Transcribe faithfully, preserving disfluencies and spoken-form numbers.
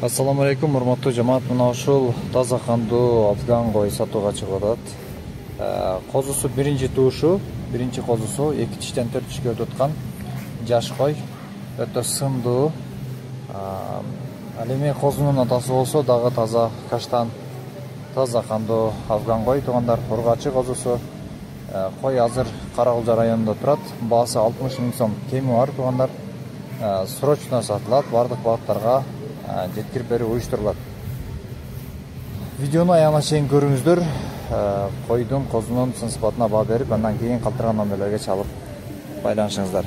Ассаламу алейкум, урматтуу жамаат. Мына ушул таза кандуу афган кой сатууга чыгып атат. Козусу биринчи туушу, биринчи козусу эки тиштен төрт тишке өтүп аткан жаш кой. Өтө сымдуу. Ал эми козунун атасы болсо дагы таза каштан, таза кандуу афган кой. Туугандар, ургачы козусу. Кой азыр Каракулжа районунда турат. Баасы алтымыш миң сом кеми бар, туугандар. Срочно сатылат, бардык багыттарга жеткирип берүү уюштурулат. Видеону аягына чейин көрүңүздөр. Койдун, козунун сын сыпатына баа берип, андан кийин калтырган номерлерге чалып байланышыңыздар.